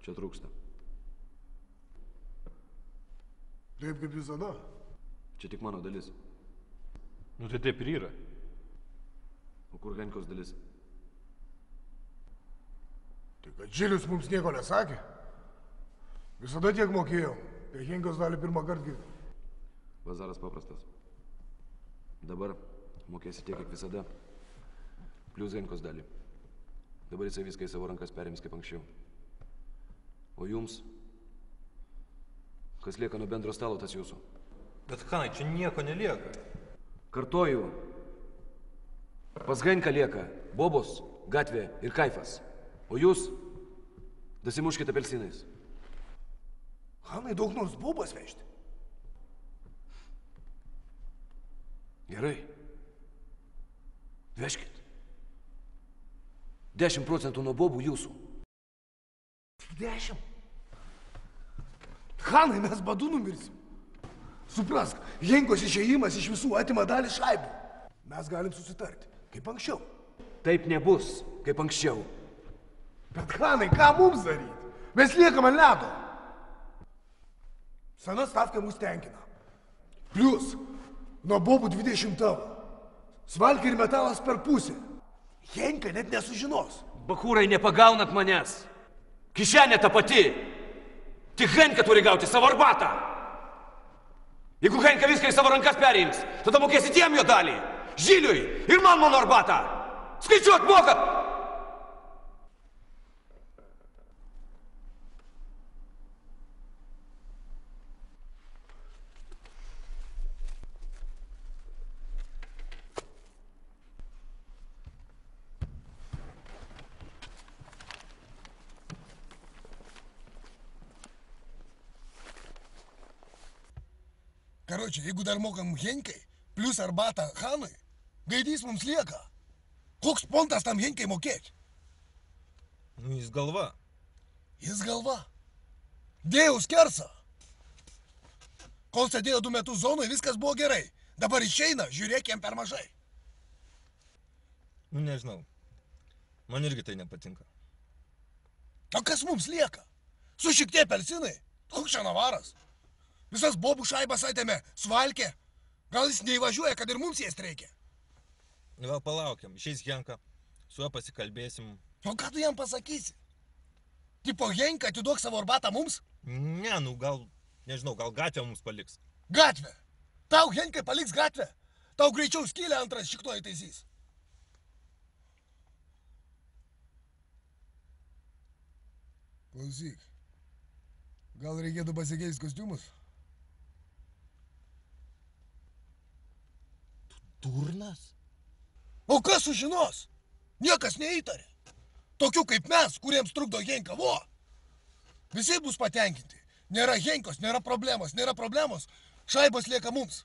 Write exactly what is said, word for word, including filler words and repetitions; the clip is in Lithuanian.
Čia trūksta. Taip kaip visada. Čia tik mano dalis. Nu tai taip ir yra. O kur Henkos dalis? Tai kad Žilius mums nieko nesakė. Visada tiek mokėjau. Tai Henkos dalį pirmą kartą girdėjau. Bazaras paprastas. Dabar mokėsi tiek, kiek visada. Plius Henkos dalį. Dabar jisai viską į savo rankas perims kaip anksčiau. O jums? Kas lieka nuo bendro stalo, tas jūsų? Bet Hanai, čia nieko nelieka. Kartoju. Pas Henką lieka bobos, gatvė ir kaifas. O jūs dasimuškite apelsinais. Hanai, daug nors bobas vežti. Gerai. Vežkit. Dešimt procentų nuo bobų jūsų. Tik dešimt. Hanai, mes badu numirsim. Suprask, Henkos išėjimas iš visų atima dalį šaibų. Mes galim susitarti, kaip anksčiau. Taip nebus, kaip anksčiau. Bet Hanai, ką mums daryti? Mes liekam ant ledo. Sena stavka mus tenkina. Plius, nuo bobų dvidešimt tavo. Svalkė ir metalas per pusę. Henka net nesužinos. Bachūrai, nepagaunat manęs. Kišenė ta pati. Tik Henka turi gauti savo arbatą. Jeigu Henka viską į savo rankas periims, tada mokėsit jam jo dalį. Žiliui ir man mano arbatą. Skaičiuot mokat! Karočią, jeigu dar mokam Henkai, plius arbatą Hanui, gaidys mums lieka. Koks pontas tam Henkai mokėti? Nu, jis galva. Jis galva. Dėjau skersą. Kol sėdėjo du metus zonui, viskas buvo gerai. Dabar išeina, žiūrėk, jam per mažai. Nu, nežinau. Man irgi tai nepatinka. O kas mums lieka? Su šiek tiek apelsinai? Koks čia navaras? Visas bobų šaibas atėmė, Svalkė. Gal jis neįvažiuoja, kad ir mums jas reikia? Gal palaukiam, išeis Henka, su juo pasikalbėsim. O ką tu jam pasakysi? Tipo Henka, atiduok savo arbatą mums? Ne, nu gal, nežinau, gal gatvę mums paliks. Gatvę? Tau Henkai paliks gatvę? Tau greičiau skylę antras šiktoji taisys. Klausyk, gal reikėtų pasikeisti kostiumus? Durnas? O kas sužinos? Niekas neįtarė. Tokių kaip mes, kuriems trukdo Henka, vo. Visi bus patenkinti. Nėra Henkos, nėra problemos, nėra problemos. Šaibos lieka mums.